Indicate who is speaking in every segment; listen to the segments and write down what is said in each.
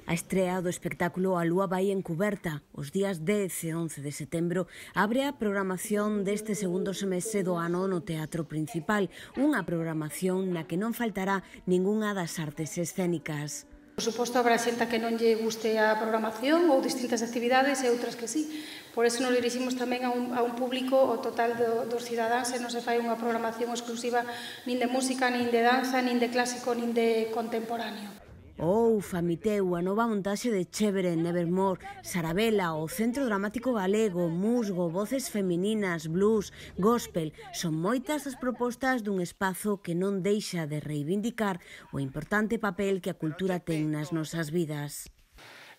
Speaker 1: A estrea do espectáculo A Lúa vai encuberta. Os días 10 e 11 de setembro abre a programación deste segundo semestre do ano no Teatro Principal, unha programación na que non faltará ningunha das artes escénicas.
Speaker 2: Por suposto, habrá xente que non lle guste a programación ou distintas actividades e outras que sí. Por eso nos diriximos tamén a un público o total dos cidadáns e non se fai unha programación exclusiva nin de música, nin de danza, nin de clásico, nin de contemporáneo.
Speaker 1: Famiteu, a nova montaxe de Chévere, Nevermore, Sarabela, o Centro Dramático Galego, Musgo, voces femininas, blues, gospel. Son moitas as propostas dun espazo que non deixa de reivindicar o importante papel que a cultura ten nas nosas vidas.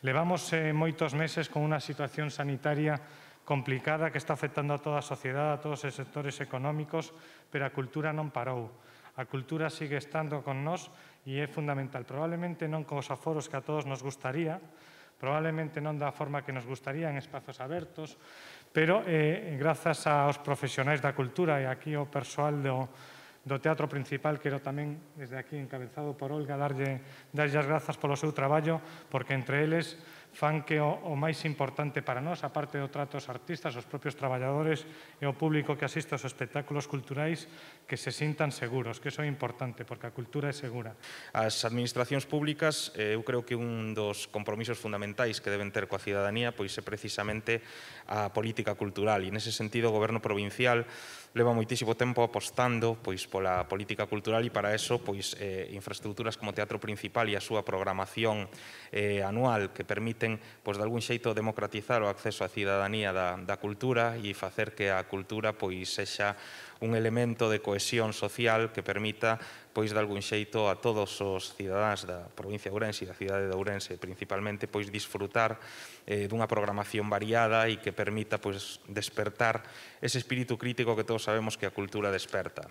Speaker 3: Levamos moitos meses con unha situación sanitaria complicada que está afectando a toda a sociedade, a todos os sectores económicos, pero a cultura non parou. A cultura sigue estando con nós e é fundamental. Probablemente non cos aforos que a todos nos gustaría, probablemente non da forma que nos gustaría en espazos abertos, pero grazas aos profesionais da cultura e aquí o persoal do Teatro Principal, quero tamén, desde aquí, encabezado por Olga, darlle as grazas polo seu traballo, porque entre eles fan que o máis importante para nós, a parte do trato aos artistas, os propios traballadores e o público que asiste aos espectáculos culturais, que se sintan seguros, que iso é importante, porque a cultura é segura.
Speaker 4: As administracións públicas, eu creo que un dos compromisos fundamentais que deben ter coa cidadanía pois é precisamente a política cultural, e nese sentido o Goberno provincial leva moitísimo tempo apostando pois pola política cultural e para eso pois infraestructuras como o Teatro Principal e a súa programación anual que permiten pois de algún xeito democratizar o acceso á cidadanía da cultura e facer que a cultura pois sexa un elemento de cohesión social que permita pois de algún xeito a todos os cidadáns da provincia de Ourense e da cidade de Ourense principalmente pois disfrutar dunha programación variada e que permita pois despertar ese espírito crítico que todos sabemos que a cultura desperta.